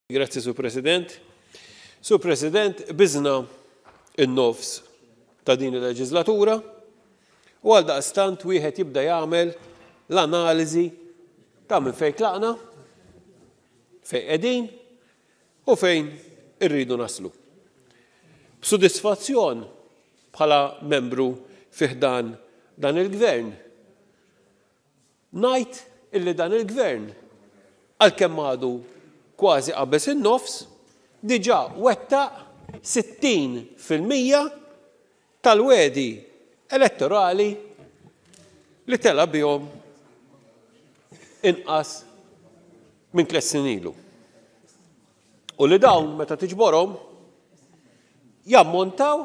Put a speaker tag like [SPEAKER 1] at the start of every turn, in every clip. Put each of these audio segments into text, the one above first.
[SPEAKER 1] Grazzi, Sur President. Sur President, qbiżna n-nofs ta' din il-leġiżlatura u għaldaqstant wieħed jibda jagħmel l-analiżi ta' minn fejn tlaqna, fejn qegħdin u fejn irridu naslu. B'sodisfazzjon bħala membru fi ħdan dan il-Gvern, Ngħid illi dan il-Gvern, għalkemm għadu kważi qabeż in-nofs, diġà wettaq 60% tal-wegħdi elettorali li tela' bihom inqas minn tlett snin ilu. U li dawn meta tiġborhom jammontaw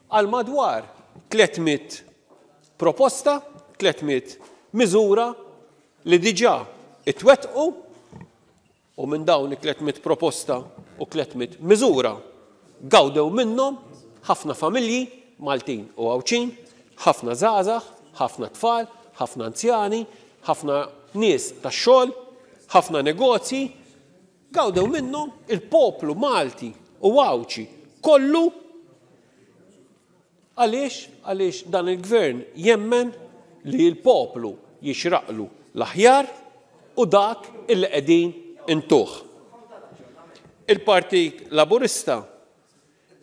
[SPEAKER 1] għal madwar 300 proposta, 300 miżura li diġà itwettqu u minn dawn it-300 proposta u 300 miżura gawdew minnhom ħafna familji Maltin u Għawdxin, ħafna żgħażagħ, ħafna tfal, ħafna anzjani, ħafna nies tax-xogħol, ħafna negozji, Gawdew minnhom il-poplu Malti u Għawdxi kollu. Għaliex? Għaliex dan il-Gvern jemmen li l-poplu jixraqlu l-aħjar u dak illi qegħdin intuh. Il-Partit Laburista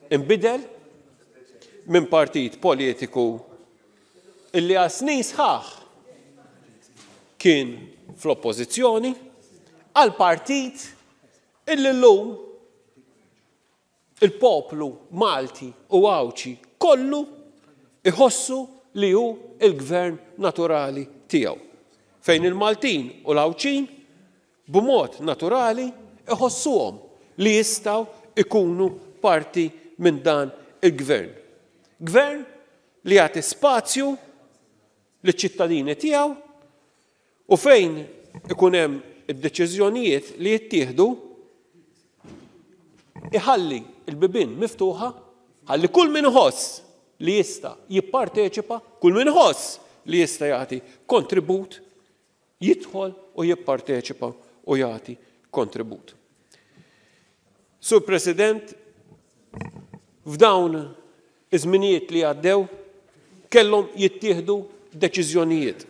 [SPEAKER 1] inbidel minn partit politiku illi għal snin sħaħ kien fl-oppożizzjoni għal partit illi llum il-poplu Malti u Għawdxi kollu iħossu li hu l-gvern naturali tiegħu. Fejn il-Maltin u l-Għawdxin b'mod naturali iħossuhom li jistgħu jkunu parti minn dan il-Gvern. Gvern li jagħti spazju liċ-ċittadini tiegħu u fejn ikun hemm id-deċiżjonijiet li jittieħdu iħalli l-bibien miftuħa ħalli kull min iħoss li jista' jipparteċipa, kull min iħoss li jista' jagħti kontribut jidħol u jipparteċipa u jagħti kontribut. Sur President, f'dawn iż-żminijiet li għaddew kellhom jittieħdu deċiżjonijiet.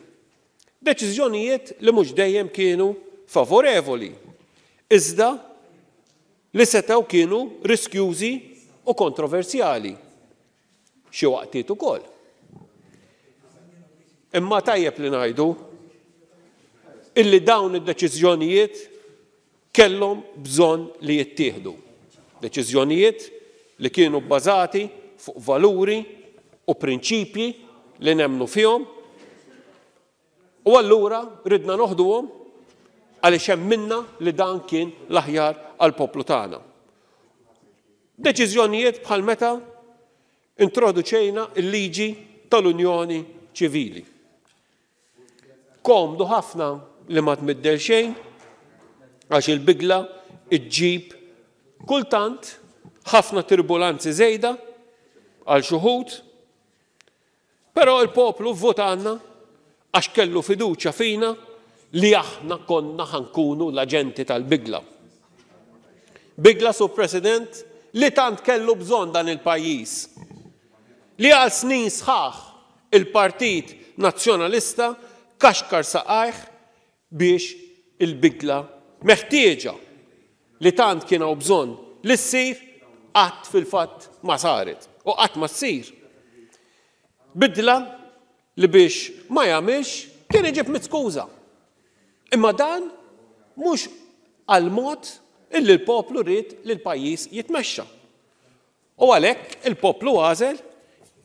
[SPEAKER 1] Deċiżjonijiet li mhux dejjem kienu favorevoli, iżda li setgħu kienu riskjużi u kontroversjali. Xi waqtiet ukoll. Imma tajjeb li ngħidu illi dawn id-deċiżjonijiet kellhom bżonn li jittieħdu. Deċiżjonijiet li kienu bbażati fuq valuri u prinċipji li nemmnu fihom u allura ridna noħduhom għaliex emminna li dan kien l-aħjar għall-poplu tagħna. Deċiżjonijiet bħal meta introduċejna l-liġi tal-Unjoni Ċivili. Komdu ħafna li ma tmiddel xejn għax il-bidla ġġib kultant ħafna turbulanzi żejda għal xi wħud Però l-poplu vvotalna għax kellu fiduċja fina li aħna konna ħa nkunu l-aġenti tal-bidla. Bidla, Sur President, li tant kellu bżonn dan il-pajjiż. Li għal snin sħaħ il-Partit Nazzjonalista kaxkar saqajh biex il-bidla meħtieġa li tant kien hawn bżonn li ssir qatt fil-fatt ma saret u qatt ma ssir. Bidla li biex ma jagħmilx kien iġib mitt skuża. Imma dan mhux għall-mod illi l-poplu ried li l-pajjiż jitmexxa. U għalhekk il-poplu għażel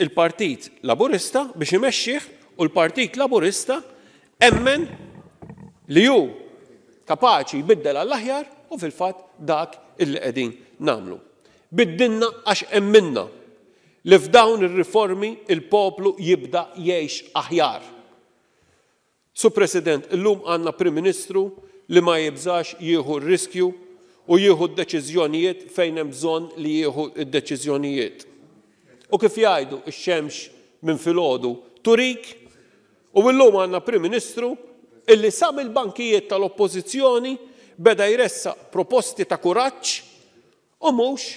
[SPEAKER 1] il-Partit Laburista biex imexxih u l-Partit Laburista emmen li hu kapaċi jbiddel għall-aħjar u fil-fatt dak illi qegħdin nagħmlu. Biddilna għax emminna li f'dawn ir-riformi il-poplu jibda jgħix aħjar. Sur President, illum għandna Prim Ministru li ma jibżax jieħu r-riskju u jieħu d-deċiżjonijiet fejn hemm bżonn li jieħu d-deċiżjonijiet. U kif jgħidu x-xemx minn filgħodu turik, u illum għandna Prim Ministru illi sa mill-bankijiet tal-Oppożizzjoni beda jressaq proposti ta' kuraġġ u mhux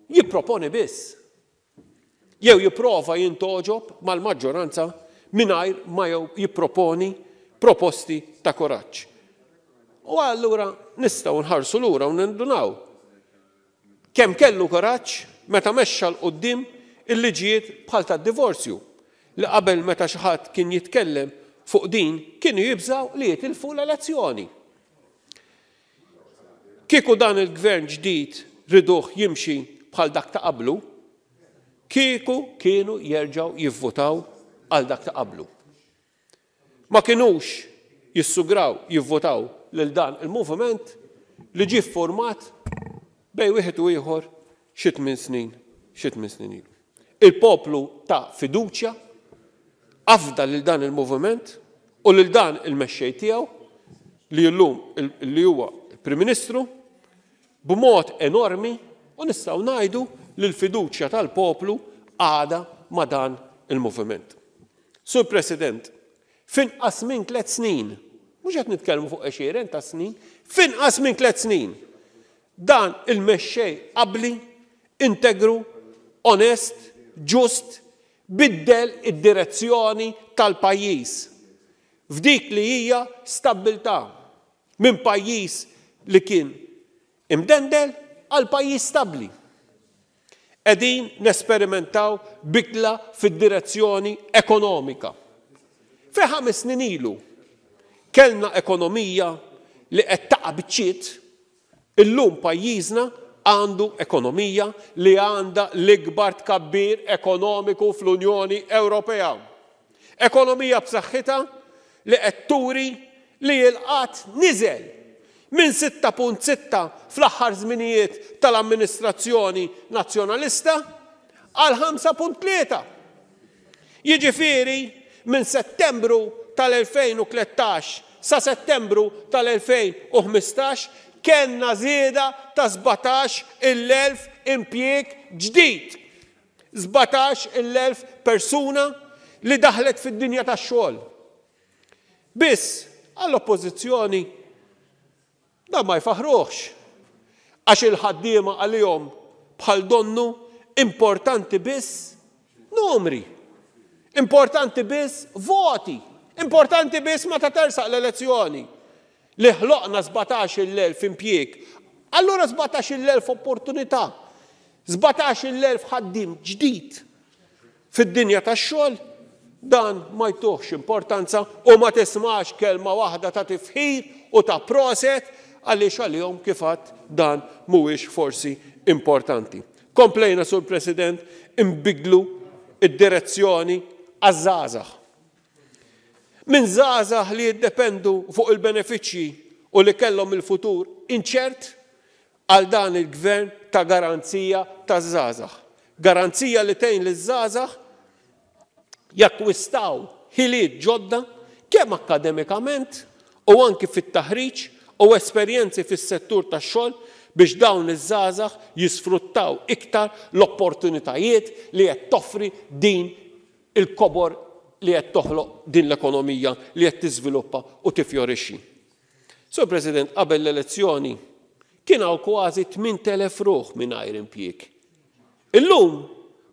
[SPEAKER 1] jipproponi biss. Jew jipprova jintgħoġob mal-maġġoranza mingħajr ma jew jipproponi proposti ta' kuraġġ. U allura nistgħu nħarsu lura u nindunaw kemm kellu kuraġġ meta mexxa 'l quddiem il-liġijiet bħal tad-divorzju li qabel meta xi ħadd kien jitkellem fuq din kienu jibżgħu li jitilfu l-elezzjoni. Kieku dan il-Gvern ġdid riduh jimxi bħal dak ta' qablu, kieku kienu jerġgħu jivvutaw għal dak ta' qablu. Ma kinux jissugraw jivvutaw lil dan il-moviment li ġie ffurmat bejn wieħed u ieħor xi tminn snin xi tminn snin ilu. Il-poplu ta fiduċja, afda lil dan il-moviment u lil dan il-mexxej tiegħu li llum li huwa l-Prim Ministru b'mod enormi u nistgħu ngħidu li l-fiduċja tal-poplu għadha ma' dan il-moviment. Sur President, f'inqas minn tlett snin, mhux qed nitkellmu fuq għexieren ta' snin, f'inqas minn tlett snin, dan il-mexxej abbli, integru, onest, ġust, biddel id-direzzjoni tal-pajjiż f'dik li hija stabbiltà, minn pajjiż li kien imdendel għal pajjiż stabbli. Qegħdin nesperimentaw bidla fid-direzzjoni ekonomika. Fejn ħames snin ilu kellna ekonomija li qed taqa' biċċiet, illum pajjiżna għandu ekonomija li għandha l-ikbar tkabbir ekonomiku fl-Unjoni Ewropea. Ekonomija b'saħħitha li qed turi li l-qgħad niżel minn 6.6 fl-aħħar żminijiet tal-amministrazzjoni Nazzjonalista għal 5.3. Jiġifieri minn Settembru tal-2013 sa Settembru tal-2015 kellna żieda ta' 17,000 impjieg ġdid. 17,000 persuna li daħlet fid-dinja tax-xogħol. Biss, għall-Oppożizzjoni dan ma jfaħħruhx għax il-ħaddiema għalihom bħal donnu importanti biss numri, importanti biss voti, importanti biss meta tersaq l-elezzjoni. Li ħloqna 17,000 impjieg, allura 17,000 opportunità, 17,000 ħaddiem ġdid fid-dinja tax-xogħol, dan ma jtuhx importanza u ma tismax kelma waħda ta' tifħir u ta' proset għaliex għalihom kif għedt dan mhuwiex forsi importanti. Komplejna, Sur President, inbiddlu d-direzzjoni għaż-żgħażagħ. Minn żgħażagħ li jiddependu fuq il-benefiċċji u li kellhom il-futur inċert għal dan il-Gvern ta' garanzija taż-żgħażagħ. Garanzija li tgħin liż-żgħażagħ jakkwistaw ħiliet ġodda kemm akkademikament u anki fit-taħriġ u esperjenzi fis-settur tax-xogħol biex dawn iż-żgħażagħ jisfruttaw iktar l-opportunitajiet li qed toffri din il-kobor li qed toħloq din l-ekonomija li qed tiżviluppa u tiffjorixxi. Sur President, qabel l-elezzjoni kien hawn kważi 8,000 ruħ mingħajr impjieg. Illum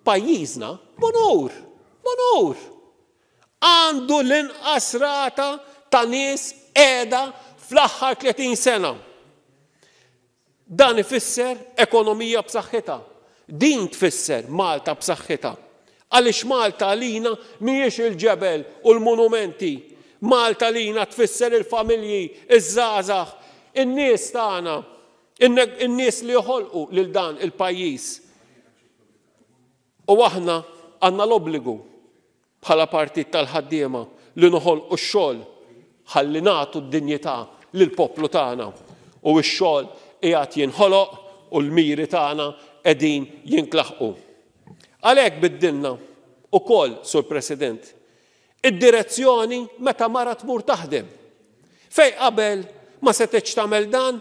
[SPEAKER 1] pajjiżna, b'onur, b'onur, għandu l-inqas rata ta' nies qiegħda fl-aħħar 30 sena. Dan ifisser ekonomija b'saħħitha. Din tfisser Malta b'saħħitha. Għaliex Malta għalina mhijiex il-ġebel u l-monumenti. Malta għalina tfisser il-familji, iż-żgħażagħ, in-nies tagħna, in-nies li joħolqu lil dan il-pajjiż. U aħna għandna l-obbligu bħala partit tal-ħaddiema li noħolqu x-xogħol ħalli nagħtu d-dinjità lill-poplu tagħna u x-xogħol qiegħed jinħoloq u l-miri tagħna qegħdin jintlaħqu. Għalhekk biddilna ukoll, Sur President, id-direzzjoni meta mara tmur taħdem. Fejn qabel ma setgħetx tagħmel dan,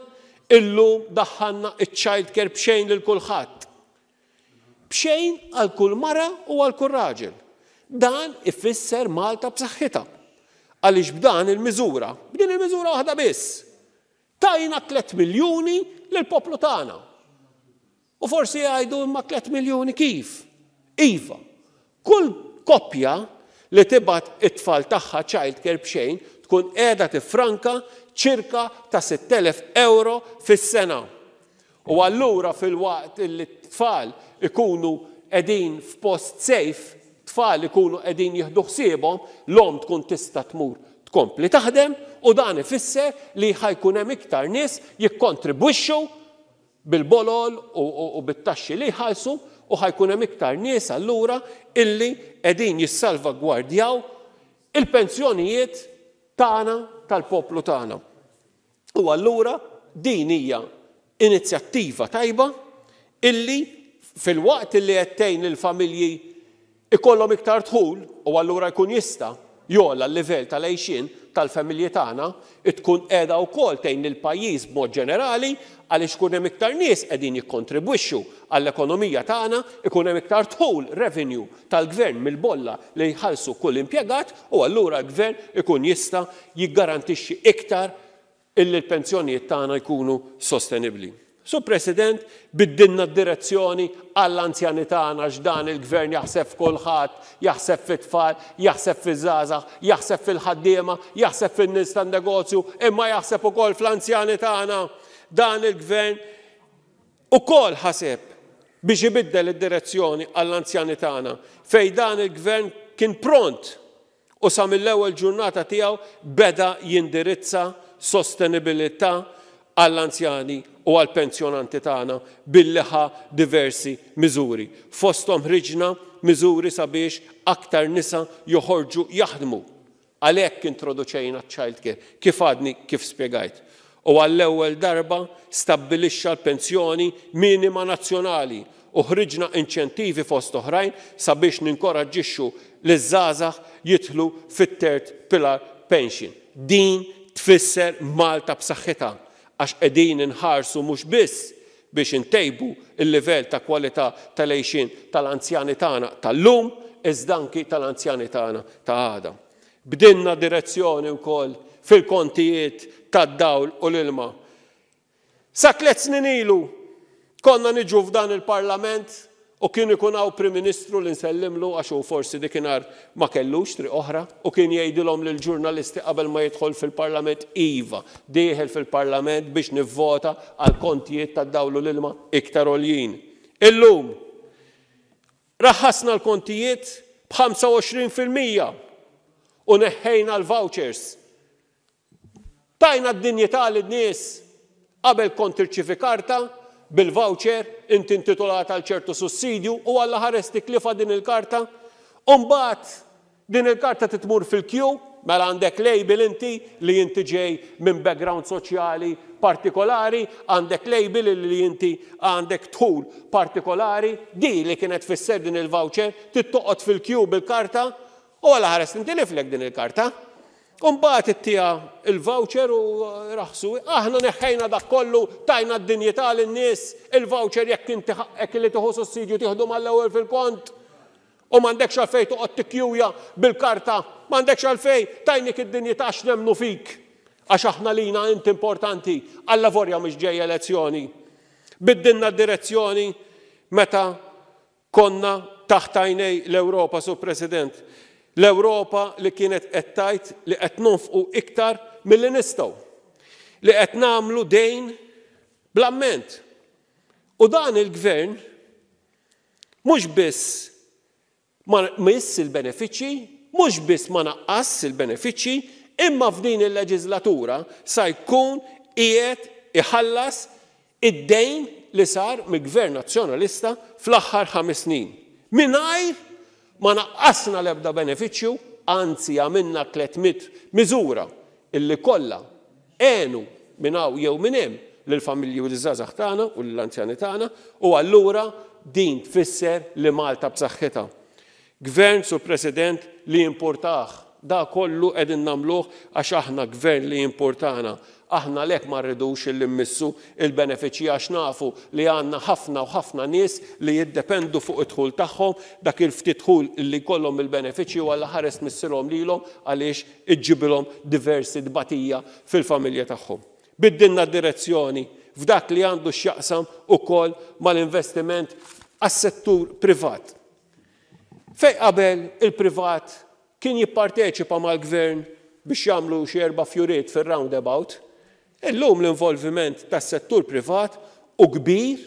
[SPEAKER 1] illum daħħalna ċ-child care b'xejn lil kulħadd. B'xejn għal kull mara u għal kull raġel. Dan ifisser Malta b'saħħitha. Għaliex b'dan il-miżura, b'din il-miżura waħda biss, Tajna 3 miljuni lill-poplu tagħna. U forsi jgħidu imma 3 miljuni kif? Iva, kull koppja li tibgħat it-tfal tagħha child care b'xejn tkun qiegħda tiffranka ċirka ta' 6,000 ewro fis-sena. U allura filwaqt li t-tfal ikunu qegħdin f'post safe, tfal ikunu qegħdin jieħdu ħsiebhom, l-omm tkun tista' tmur tkompli taħdem u dan ifisser li ħa jkun hemm iktar nies jikkontribwixxu bil-bolol u bit-taxxi li jħallsu u ħa jkun hemm iktar nies allura illi qegħdin jissalvagwardjaw il-pensjonijiet tagħna tal-poplu tagħna. U allura din hija inizjattiva tajba illi filwaqt illi qed tgħin lill-familji ikollhom iktar dħul u allura jkun jista' jogħla l-livell tal-għixien tal-familji tagħna, tkun qiegħda wkoll tgħin lill-pajjiż b'mod ġenerali għaliex ikun hemm iktar nies qegħdin jikkontribwixxu għall-ekonomija tagħna, ikun hemm iktar dħul, revenue, tal-gvern mill-bolla li jħallsu kull impjegat u allura l-gvern ikun jista' jiggarantixxi iktar illi l-pensjonijiet tagħna jkunu sostenibbli. Sur President, biddilna d-direzzjoni għall-anzjani tagħna għax dan il-gvern jaħseb f'kulħadd, jaħseb fit-tfal, jaħseb fiż-żgħażagħ, jaħseb fil-ħaddiema, jaħseb fin-nies tan-negozju, imma jaħseb ukoll fl-anzjani tagħna. Dan il-gvern ukoll ħaseb biex ibiddel id-direzzjoni għall-anzjani tagħna, fejn dan il-Gvern kien pront u sa mill-ewwel ġurnata tiegħu beda jindirizza sostenibilità għall-anzjani u għall-pensjonanti tagħna billi ħa diversi miżuri. Fosthom ħriġna miżuri sabiex aktar nisa joħorġu jaħdmu. Għalhekk introduċejna ċ-child care, kif għadni kif spjegajt. U għall-ewwel darba stabbilixxa l-pensjoni minima nazzjonali u ħriġna inċentivi fost oħrajn sabiex ninkoraġġixxu liż-żgħażagħ jidħlu fit-third pillar pension. Din tfisser Malta b'saħħitha għax qegħdin inħarsu mhux biss biex intejbu l-livell ta' kwalità tal-għixien tal-anzjani tagħna tal-lum iżda anki tal-anzjani tagħna ta' għada. Bdilna direzzjoni wkoll fil-kontijiet tad-dawl u l-ilma. Sa tliet snin ilu konna niġu f'dan il-Parlament U kien ikun hawn Prim Ministru li nsellimlu għax hu forsi dikinhar ma kellux triq oħra u kien jgħidilhom lill-ġurnalisti qabel ma jidħol fil-Parlament, iva, dieħel fil-Parlament biex nivvota għal kontijiet tad-dawl u l-ilma iktar għoljin. Illum, raħħasna l-kontijiet b'25% u neħħejna l-vouchers. Tajna d-dinjità lin-nies. Qabel kont tirċievi karta bil-voucher, inti intitolat għal ċertu sussidju u Alla ħares tiklifa din il-karta. U mbagħad din il-karta trid tmur fil-queue, mela għandek label inti li inti ġej minn background soċjali partikolari, għandek label li inti għandek dħul partikolari, di li kienet tfisser din il-voucher, trid toqgħod fil-queue bil-karta u Alla ħares tintiliflek din il-karta. U mbagħad ittiha l-voucher u raħsu. Aħna neħħejna dak kollu, tajna d-dinjità lin-nies, il-voucher jekk inti ħaqqek li tieħu sussidju tieħdu mal-ewwel fil-kont. U m'għandekx għalfejn toqgħod tikkjuja bil-karta, m'għandekx għalfejn, tajnik id-dinjità għax nemmnu fik. Għax aħna lina int importanti, allavorja mhix ġejja elezzjoni. Biddilna d-direzzjoni meta Konna taħt għajnej l-Ewropa, Sur President. L-Ewropa li kienet qed tgħid li qed nonfqu iktar milli nistgħu. Li qed nagħmlu dejn bl-amment. U dan il-Gvern mhux biss ma miss il-benefiċċji, mhux biss ma naqqasx il-benefiċċji, imma f'din il-leġiżlatura sa jkun qiegħed iħallas id-dejn li sar mill-Gvern Nazzjonalista fl-aħħar ħames snin, mingħajr ma naqqasna l-ebda benefiċċju, anzi għamilna 300 miżura illi kollha għenu minn hawn jew minn hemm lill-familji u liż-żgħażagħ tagħna u lill-anzjani tagħna u allura din tfisser li Malta b'saħħitha. Gvern, Sur President, li jimpurtah. Da kollu qegħdin nagħmluh għax aħna gvern li jimpurtana. Aħna għalhekk ma rridux illi mmissu il-benefiċċji għax nafu li għandna ħafna u ħafna nies li jiddependu fuq id-dħul tagħhom, dak il-ftit dħul illi jkollhom mill-benefiċċji u Alla ħares tmissilhom lilhom għaliex iġġibilhom diversi tbatija fil-familja tagħhom. Biddilna d-direzzjoni f'dak li għandu x'jaqsam ukoll mal-investiment għas-settur privat. Fejn qabel il-privat kien jipparteċipa mal-Gvern biex jagħmlu xi erba' fjuriet fir-roundabout, illum l-involviment tas-settur privat hu kbir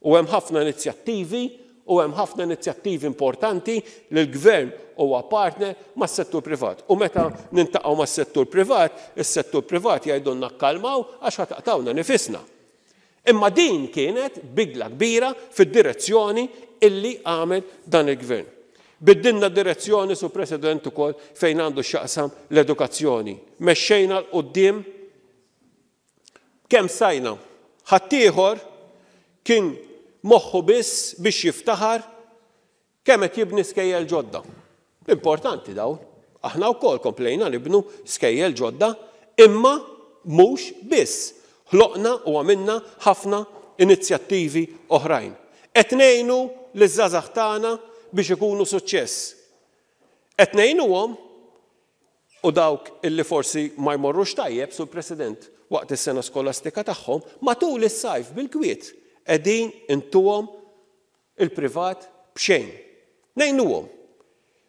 [SPEAKER 1] u hemm ħafna inizjattivi u hemm ħafna inizjattivi importanti li l-Gvern huwa partner mas-settur privat. U meta nintaqgħu mas-settur privat, is-settur privat jgħidulna kkalmaw għax ħa taqtgħulna nifisna. Imma din kienet bidla kbira fid-direzzjoni illi għamel dan il-Gvern. Biddilna d-direzzjoni, Sur President, ukoll fejn għandu x'jaqsam l-edukazzjoni. Mexxejna 'l quddiem kemm stajna. Ħaddieħor kien moħħu biss biex jiftaħar kemm qed jibni skejjel ġodda. Importanti dawn. Aħna wkoll komplejna nibnu skejjel ġodda, imma mhux biss. Ħloqna u għamilna ħafna inizjattivi oħrajn. Qed ngħinu liż-żgħażagħ tagħna biex ikunu suċċess. Qed ngħinuhom u dawk illi forsi ma jmorrux tajjeb, Sur President, waqt is-sena skolastika tagħhom, matul is-sajf bil-kwiet qegħdin intuhom il-privat b'xejn. Ngħinuhom.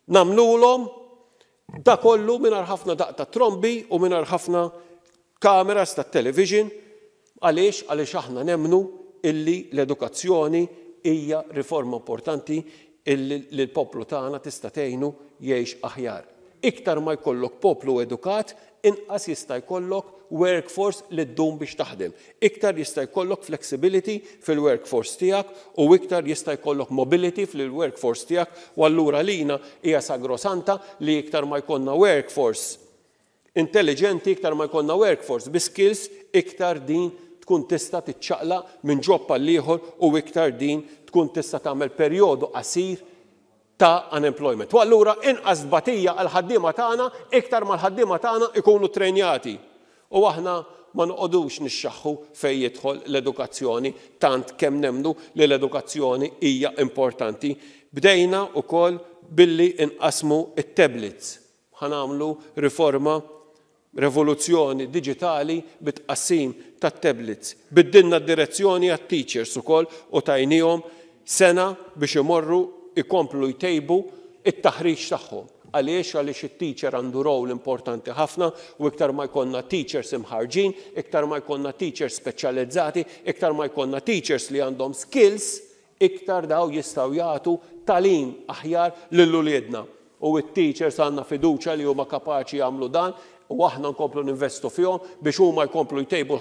[SPEAKER 1] Nagħmlulhom da kollu mingħajr ħafna daqq ta' trombi u mingħajr ħafna kameras tat-television. Għaliex? Għaliex aħna nemmnu illi l-edukazzjoni hija riforma importanti illi lill-poplu tagħna tista' tgħinu jgħix aħjar. Iktar ma jkollok poplu edukat, inqas jista' jkollok workforce li ddum biex taħdem. Iktar jista' jkollok flexibility fil-workforce tiegħek u iktar jista' jkollok mobility fil-workforce tiegħek u allura lina hija sagrosanta li iktar ma jkollna workforce intelliġenti, iktar ma jkollna workforce bi skills, iktar din tkun tista' tiċċaqlaq minn job għal ieħor u iktar din tkun tista' tagħmel perjodu qasir ta' unemployment. U allura inqas tbatija għall-ħaddiema tagħna iktar ma l-ħaddiema tagħna ikunu trejnjati. U aħna ma noqogħdux nixxaħħu fejn jidħol l-edukazzjoni tant kemm nemmnu li l-edukazzjoni hija importanti. Bdejna wkoll billi nqassmu t-tablets. Ħa nagħmlu riforma, revoluzzjoni diġitali bit-tqassim tat-tablets. Biddilna d-direzzjoni għat-teachers ukoll u tajniehom sena biex imorru jkomplu jtejbu t-taħriġ tagħhom. Għaliex? Għaliex it-teacher għandu role importanti ħafna u iktar ma jkollna teachers imħarrġin, iktar ma jkollna teachers speċjalizzati, iktar ma jkollna teachers li għandhom skills, Iktar daw jistgħu jagħtu tagħlim aħjar lil uliedna. U t-teachers għandna fiduċja li huma kapaċi jagħmlu dan u aħna nkomplu ninvestu fihom biex huma jkomplu jtejbu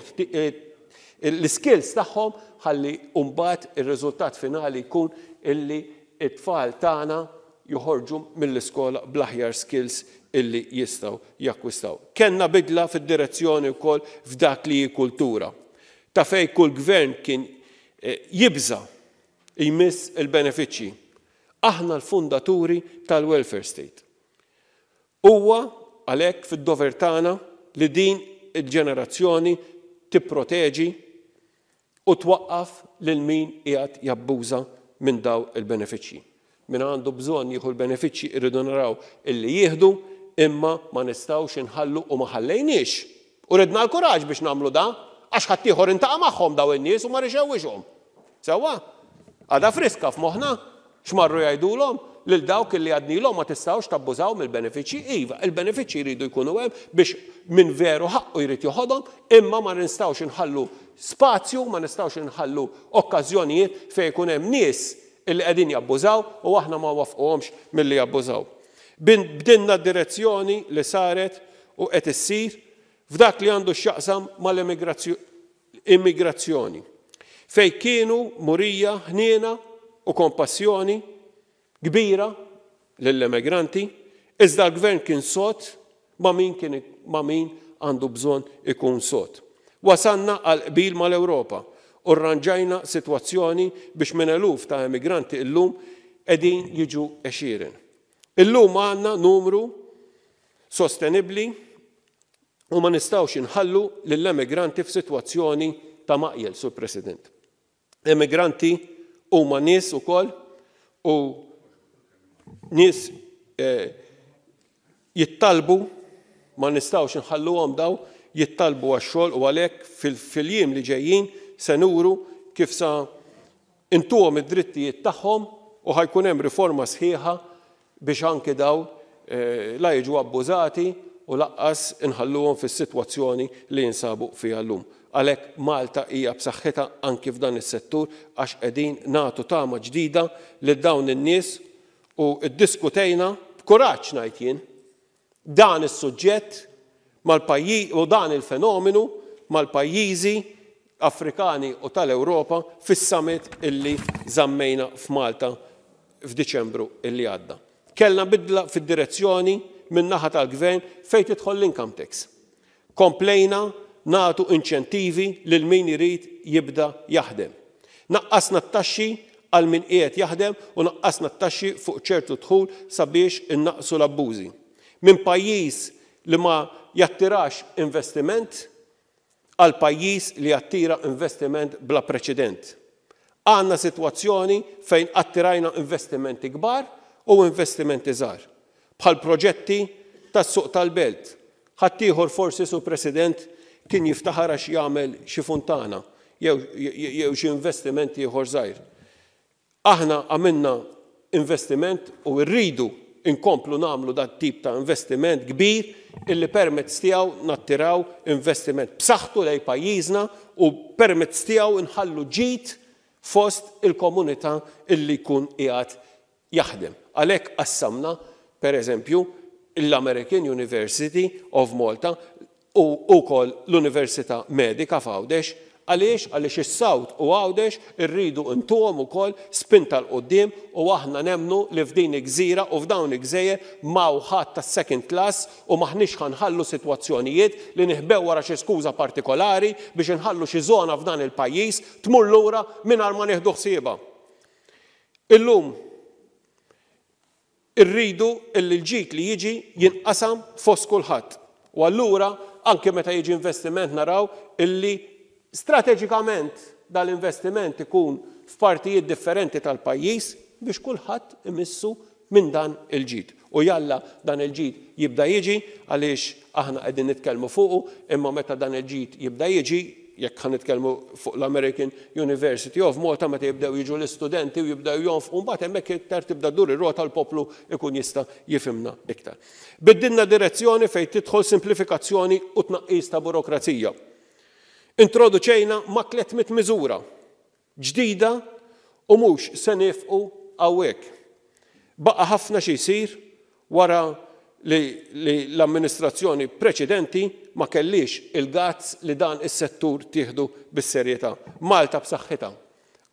[SPEAKER 1] l-iskills tagħhom ħalli mbagħad ir-riżultat finali jkun illi t-tfal tagħna joħorġu mill-iskola bl-aħjar skills illi jistgħu jakkwistaw. Kellna bidla fid-direzzjoni wkoll f'dak li hi kultura. Ta' fejn kull gvern kien jibża' jmiss il-benefiċċji. Aħna l-fundaturi tal-welfare state. Huwa għalhekk fid-dover tagħna li din il-ġenerazzjoni tipproteġi u twaqqaf lil min qiegħed jabbuża minn dawn il-benefiċċji. Min għandu bżonn jieħu l-benefiċċji irridu naraw illi jieħdu imma ma nistgħux inħallu u ma ħallejniex. U ridna l-kuraġġ biex nagħmlu dan għax ħaddieħor intaqa' magħhom dawn in-nies u mar ixewwixhom. Sewwa? Għadha friska f'moħħna x'marru jgħidulhom lil dawk illi għadnilhom ma tistgħux tabbużaw mill-benefiċċji. Iva, il-benefiċċji jridu jkunu hemm biex min veru ħaqqu jrid joħodhom imma ma nistgħux inħallu spazju, ma nistgħux inħallu okkażjonijiet fejn ikun hemm nies illi qegħdin jabbużaw u aħna ma nwaffquhomx milli jabbużaw. Bdilna d-direzzjoni li saret u qed issir f'dak li għandu x'jaqsam mal-immigrazzjoni, fejn kienu murija ħniena u kompassjoni kbira lill-emigranti, iżda l-Gvern kien sod ma' min kien ma' min għandu bżonn ikun sod. Wasalna għal qbil mal-Ewropa u rranġajna sitwazzjoni biex minn eluf ta' emigranti illum qegħdin jiġu għexieren. Illum għandna numru sostenibbli u ma nistgħux inħallu lill-emigranti f'sitwazzjoni ta' maqjel, Sur President. Emigranti huma nies ukoll u nies eh, jittalbu ma nistgħux inħalluhom daw jittalbu għax-xogħol u għalhekk fil-jiem li ġejjin se nuru kif sa intuhom id-drittijiet tagħhom u ħa jkun hemm riforma sħiħa biex anki dawn la jiġu abbużati u laqqas inħalluhom fis-sitwazzjoni li jinsabu fiha llum. Għalhekk Malta hija b'saħħitha anki f'dan is-settur għax qegħdin nagħtu tama ġdida lil dawn in-nies u ddiskutejna, b'kuraġġ ngħid jien, dan is-suġġett mal-pajji u dan il-fenomenu mal-pajjiżi Afrikani u tal-Ewropa fis-summit illi żammejna f'Malta f'Diċembru illi għadda. Kellna bidla fid-direzzjoni min-naħa tal-Gvern fejn tidħol l-income tax. Komplejna nagħtu inċentivi lil min irid jibda jaħdem. Naqqasna t-taxxi għal min qiegħed jaħdem u naqqasna t-taxxi fuq ċertu dħul sabiex innaqqsu l-abbużi. Minn pajjiż li ma jattirax investiment għal pajjiż li jattira investiment bla preċedent. Għandna sitwazzjoni fejn attirajna investimenti kbar u investimenti żgħar, bħal proġetti tas-suq tal-belt. Ħaddieħor forsi, Sur President, kien jiftaħar għax jagħmel xi funtana jew jew xi investiment ieħor żgħir. Aħna għamilna investiment u rridu nkomplu nagħmlu dat tip ta' investiment kbir illi permezz tiegħu nattiraw investiment b'saħħtu lejn pajjiżna u permezz tiegħu nħallu ġid fost il-komunità illi jkun qiegħed jaħdem. Għalhekk qassamna, per eżempju, l-American University of Malta u wkoll l-Università Medika f'Għawdex. Għaliex? Għaliex is-South u Għawdex irridu ntuhom ukoll spinta 'l quddiem u aħna nemmnu li f'din il-gżira u f'dawn il-gżejjer m'hawn ħadd tas-second class u m'aħniex ħa nħallu sitwazzjonijiet li niħbew wara xi skuża partikolari biex inħallu xi żona f'dan il-pajjiż tmur lura mingħajr ma nieħdu ħsiebha. Illum Irridu illi l-ġid li jiġi jinqasam fost kulħadd. U allura anke meta jiġi investiment naraw illi strateġikament dal-investiment ikun f'partijiet differenti tal-pajjiż biex kulħadd imissu minn dan il-ġid. U jalla dan il-ġid jibda jiġi għaliex aħna qegħdin nitkellmu fuqu imma meta dan il-ġid jibda jiġi jekk ħa nitkellmu fuq l-American University of Malta, meta jibdew jiġu l-istudenti u jibdew jonfqu, mbagħad hemmhekk iktar tibda ddur ir-rota, l-poplu ikun jista' jifhimna iktar. Biddilna direzzjoni fejn tidħol simplifikazzjoni u tnaqqis ta' burokrazija. Introduċejna ma' 300 miżura ġdida u mhux se niefqu hawnhekk. Baqa' ħafna xi jsir wara li li l-amministrazzjoni preċedenti ma kellhiex il-guts li dan is-settur tieħdu bis-serjetà. Malta b'saħħitha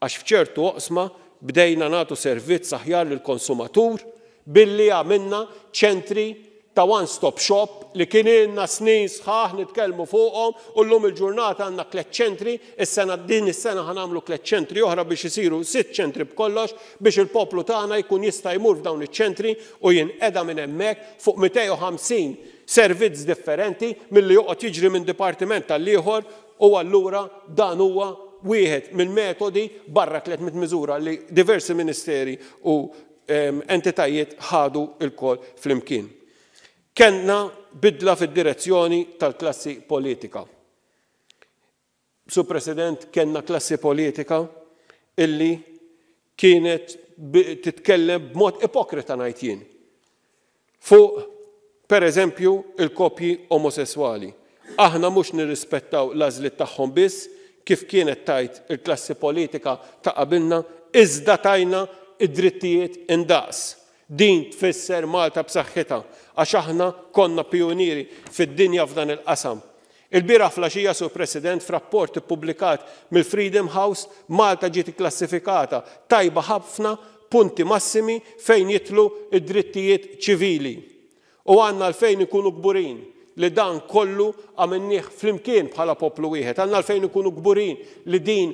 [SPEAKER 1] għax f'ċertu oqsma bdejna nagħtu servizz aħjar lill-konsumatur billi għamilna ċentri ta' one stop shop li kien ilna snin sħaħ nitkellmu fuqhom u llum il-ġurnata għandna tlett ċentri, is-sena din is-sena ħa nagħmlu tlett ċentri oħra biex isiru sitt ċentri b'kollox biex il-poplu tagħna jkun jista' jmur f'dawn iċ-ċentri u jinqeda minn hemmhekk fuq 250 servizz differenti milli joqgħod jiġri minn dipartiment għall-ieħor u allura dan huwa wieħed mill-metodi barra 300 miżura li diversi ministeri u entitajiet ħadu lkoll flimkien. Kellna bidla fid-direzzjoni tal-klassi politika. Sur President, kellna klassi politika illi kienet titkellem b'mod ipokrita ngħid jien fuq, per eżempju, il-koppji omosesswali. Aħna mhux nirrispettaw l-għażliet tagħhom biss, kif kienet tgħid il-klassi politika ta' qabilna, iżda tajna d-drittijiet indaqs. Din tfisser Malta b'saħħitha, għax aħna konna pijunieri fid-dinja f'dan il-qasam. Ilbieraħ fl-għaxija, Sur President, f'rapport ippubblikat mill-Freedom House, Malta ġiet ikklassifikata tajba ħafna punti massimi fejn jidħlu d-drittijiet ċivili. U għandna għalfejn inkunu kburin li dan kollu għamilnieh flimkien bħala poplu wieħed. Għandna għalfejn inkunu kburin li din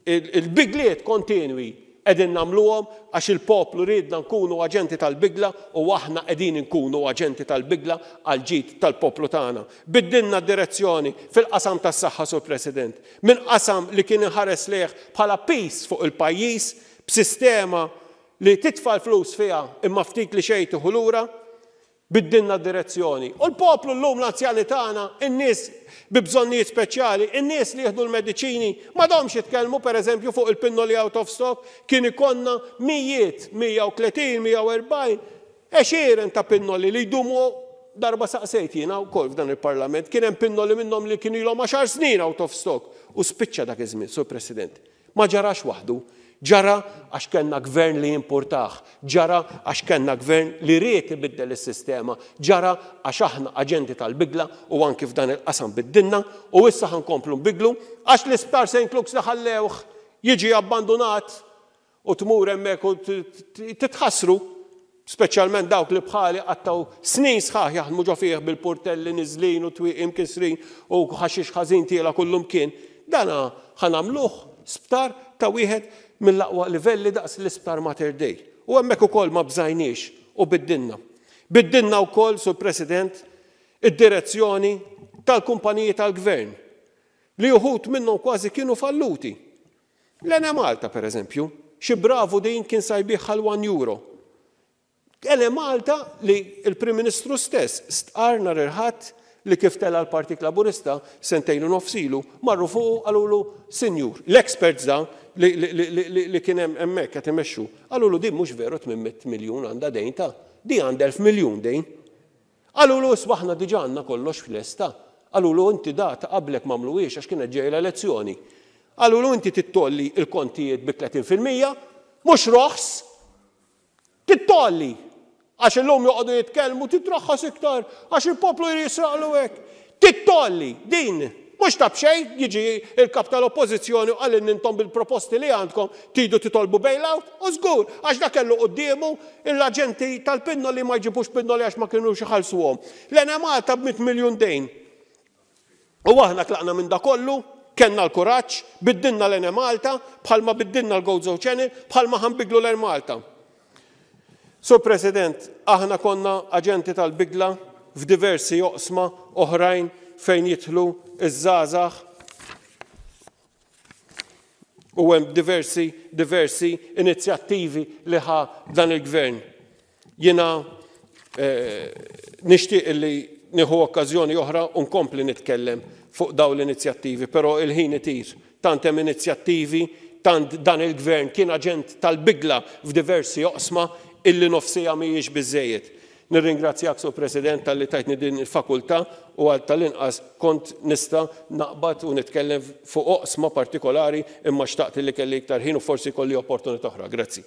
[SPEAKER 1] il-bidliet kontinwi qegħdin nagħmluhom għax il-poplu riedna nkunu aġenti tal-bidla u aħna qegħdin inkunu aġenti tal-bidla għall-ġid tal-poplu tagħna. Biddilna d-direzzjoni fil-qasam tas-saħħa, Sur President. Minn qasam li kien inħares lejh bħala piż fuq il-pajjiż b'sistema li titfa' l-flus fiha imma ftit li xejn tieħu lura. Biddilna d-direzzjoni. U l-poplu llum, l-anzjani tagħna, in-nies bi bżonnijiet speċjali, in-nies li jieħdu l-mediċini, m'għadhomx jitkellmu pereżempju fuq il-pinnoli out of stock, kien ikollna mijiet, 130, 140, għexieren ta' pinnoli li jdumu darba saqsejt jiena wkoll f'dan il-Parlament, kien hemm pinnoli minnhom li kienu ilhom għaxar snin out of stock u spiċċa dak iż-żmien, Sur President. Ma ġarax waħdu. Ġara għax kellna gvern li jimpurtah. Ġara għax kellna gvern li ried ibiddel is-sistema. Ġara għax aħna aġenti tal-bidla u anki f'dan il-qasam biddilna u issa ħa nkomplu nbiddlu għax l-isptar St. Luke's li ħallewh jiġi abbandunat u tmur hemmhekk u titħassru. Speċjalment dawk li bħali qattgħu snin sħaħ jaħdmu ġo fih bil-purtelli niżlin u twieqi mkissrin u ħaxix ħażin tiela' kullumkien. Dan ħa nagħmluh sptar ta' wieħed mill-aqwa livelli daqs l-Isptar Mater Dei. U hemmhekk ukoll ma bżajniex u biddilna. Biddilna wkoll, Sur President, id-direzzjoni tal-kumpaniji tal-Gvern li uħud minnhom kważi kienu falluti. L-Enemalta, per eżempju, xi bravu din kien sa jbigħha għal one euro. Enemalta li l-Prim Ministru stess stqarr nhar il-Ħadd li kif tela' l-Partit Laburista sentejn u nofs ilu, marru fuqu qalulu sinjur, l-experts da li, li, li, li, li kien hemm hemmhekk qed imexxu, qalulu din mhux veru 800 miljun għandha dejn ta' di għandha 1000 miljun dejn. Qalulu isma' aħna diġà għandna kollox lesta. Qalulu inti da ta' qablek m'għamluhiex għax kienet ġejja l-elezzjoni. Qalulu inti trid tgħolli l-kontijiet bi 30%, mhux roħs! Trid tgħolli! Għax illum joqogħdu jitkellmu trid traħħas iktar għax il-poplu jrid jisraqlu hekk. Trid tgħolli! Din mhux ta' b'xejn jiġi l-Kap tal-Oppożizzjoni u qalilna intom bil-proposti li għandkom tridu titolbu bailout? U żgur, għax dak kellu quddiemu l-aġenti tal-pinnoli ma jġibux pinnoli għax ma kinux iħallsuhom. L-Enemalta b'mitt miljun dejn. U aħna tlaqna minn da kollu, kellna l-kuraġġ, biddilna l-Enemalta, bħalma biddilna l-Gozo Channel, bħalma ħa nbiddlu l-Air Malta. Sur President, aħna konna aġenti tal-bidla f'diversi oqsma oħrajn fejn jidħlu ż-żgħażagħ u hemm diversi, diversi inizjattivi li ħa dan il-Gvern. Jiena nixtieq li nieħu okkażjoni oħra u nkompli nitkellem fuq dawn l-inizjattivi, però il-ħin itir. Tant hemm inizjattivi, tant dan il-Gvern kien aġent tal-bidla f'diversi oqsma illi nofs siegħa mhijiex biżżejjed. Nirringrazzjak, Sur President, talli tajtni din il-fakultà u għal tal-inqas kont nista' naqbad u nitkellem fuq oqsma partikolari imma xtaqt illi kelli iktar ħin u forsi jkolli opportunità oħra. Grazzi.